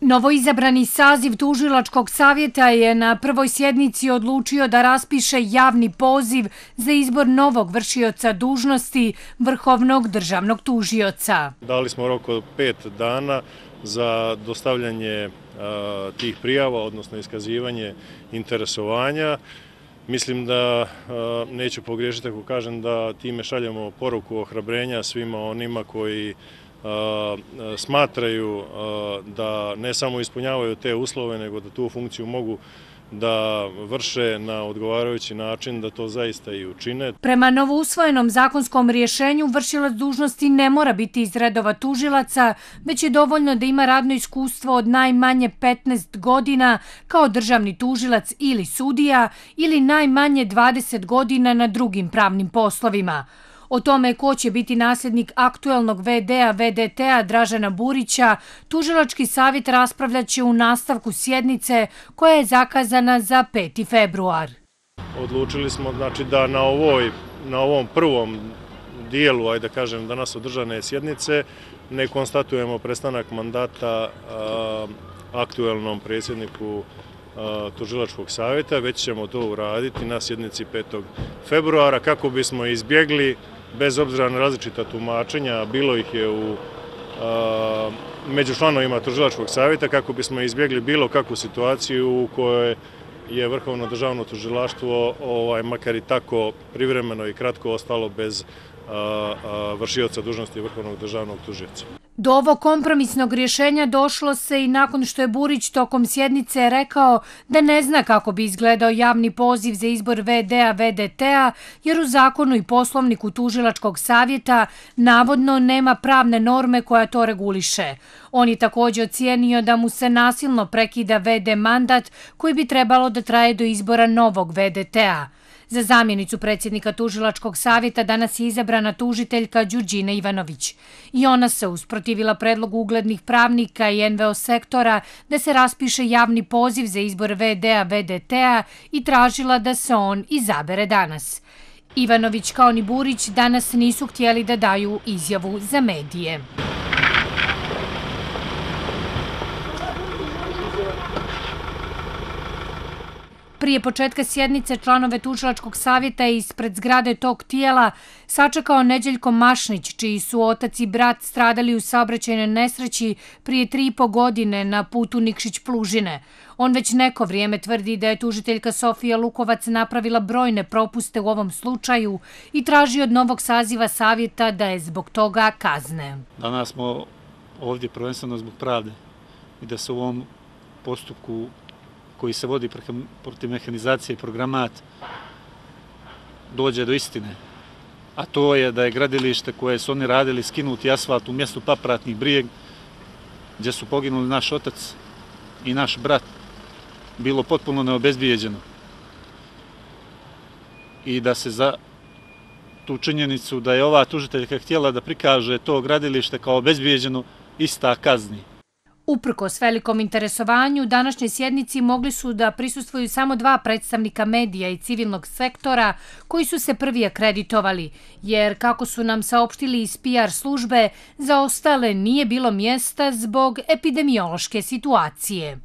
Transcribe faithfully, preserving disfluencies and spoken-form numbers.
Novoizabrani saziv Tužilačkog savjeta je na prvoj sjednici odlučio da raspiše javni poziv za izbor novog vršioca dužnosti Vrhovnog državnog tužioca. Dali smo rok od pet dana za dostavljanje tih prijava, odnosno iskazivanje interesovanja. Mislim da neću pogriješiti ako kažem da time šaljemo poruku ohrabrenja svima onima koji smatraju da ne samo ispunjavaju te uslove, nego da tu funkciju mogu da vrše na odgovarajući način, da to zaista i učine. Prema novousvojenom zakonskom rješenju, vršilac dužnosti ne mora biti iz redova tužilaca, već je dovoljno da ima radno iskustvo od najmanje petnaest godina kao državni tužilac ili sudija ili najmanje dvadeset godina na drugim pravnim poslovima. O tome ko će biti nasljednik aktuelnog ve de-a ve de te-a Dražena Burića, Tužilački savjet raspravljaće u nastavku sjednice koja je zakazana za peti februar. Odlučili smo znači, da na, ovoj, na ovom prvom dijelu, ajde da kažem, danas održane sjednice, ne konstatujemo prestanak mandata a, aktuelnom predsjedniku Tužilačkog savjeta, već ćemo to uraditi na sjednici petog februara kako bismo izbjegli, bez obzira na različita tumačenja, bilo ih je u, a, među članovima Tužilačkog savjeta, kako bismo izbjegli bilo kakvu situaciju u kojoj je Vrhovno državno tužilaštvo ovaj, makar i tako privremeno i kratko ostalo bez a, a, vršioca dužnosti Vrhovnog državnog tužioca. Do ovog kompromisnog rješenja došlo se i nakon što je Burić tokom sjednice rekao da ne zna kako bi izgledao javni poziv za izbor ve de-a ve de te-a, jer u zakonu i poslovniku Tužilačkog savjeta navodno nema pravne norme koja to reguliše. On je također ocijenio da mu se nasilno prekida ve de mandat koji bi trebalo da traje do izbora novog ve de te-a. Za zamjenicu predsjednika Tužilačkog savjeta danas je izabrana tužiteljka Đurđina Ivanović. I ona se usprotivila predlogu uglednih pravnika i en ve o sektora da se raspiše javni poziv za izbor ve de-a ve de te-a i tražila da se on izabere danas. Ivanović kao ni Burić danas nisu htjeli da daju izjavu za medije. Prije početka sjednice članove Tužilačkog savjeta je ispred zgrade tog tijela sačekao Neđeljko Mašnić, čiji su otac i brat stradali u saobraćajnoj nesreći prije tri i po godine na putu Nikšić-Plužine. On već neko vrijeme tvrdi da je tužiteljka Sofija Lukovac napravila brojne propuste u ovom slučaju i traži od novog saziva savjeta da je zbog toga kazne. Danas smo ovdje prvenstveno zbog pravde i da se u ovom postupku koji se vodi protiv mehanizacije i programat, dođe do istine. A to je da je gradilište koje su oni radili skinuti asfalt u mjestu Papratni Brijeg, gdje su poginuli naš otac i naš brat, bilo potpuno neobezbijeđeno. I da se za tu činjenicu da je ova tužiteljka htjela da prikaže to gradilište kao obezbijeđeno, ista kazni. Uprkos velikom interesovanju, današnjoj sjednici mogli su da prisustvuju samo dva predstavnika medija i civilnog sektora koji su se prvi akreditovali, jer kako su nam saopštili iz pe er službe, za ostale nije bilo mjesta zbog epidemiološke situacije.